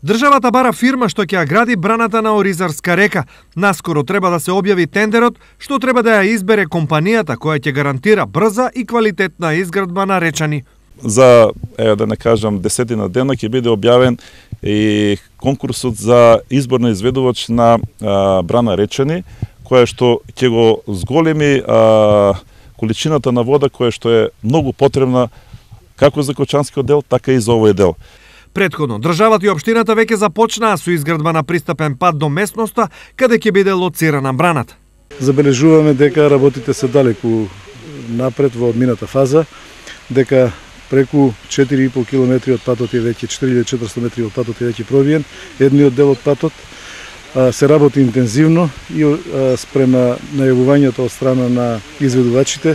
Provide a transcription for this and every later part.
Државата бара фирма што ќе ја гради браната на Оризарска река. Наскоро треба да се објави тендерот, што треба да ја избере компанијата која ќе гарантира брза и квалитетна изградба на Речани. За, да не кажам, 10 дена ќе биде објавен и конкурсот за избор на изведувач на брана Речани, која што ќе го зголеми количината на вода која што е многу потребна како за Кочанскиот дел, така и за овој дел. Предходно, државата и општината веќе започнаа со изградба на пристапен пат до местноста каде ќе биде лоцирана браната. Забележуваме дека работите се далеку напред во одмината фаза, дека преку 4,5 км од патот е веќе 4400 метри од патот е веќе провиен, едниот дел од патот се работи интензивно и спрема најавувањето од страна на изведувачите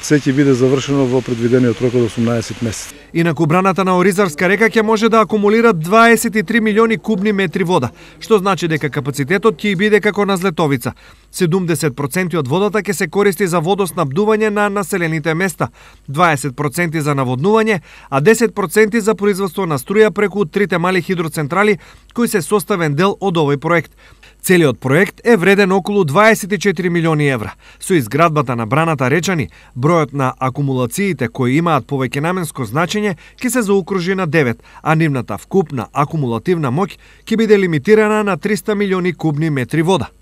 се ќе биде завршено во предвидениот рок од 18 месеци. Инаку браната на Оризарска река ќе може да акумулира 23 милиони кубни метри вода, што значи дека капацитетот ќе биде како на Злетовица. 70% од водата ќе се користи за водоснабдување на населените места, 20% за наводнување, а 10% за производство на струја преку трите мали хидроцентрали кои се составен дел од овој проект. Целиот проект е вреден околу 24 милиони евра. Со изградбата на браната Речани, бројот на акумулациите кои имаат повеќенаменско значење ќе се заокружи на 9, а нивната вкупна акумулативна моќ ќе биде лимитирана на 300 милиони кубни метри вода.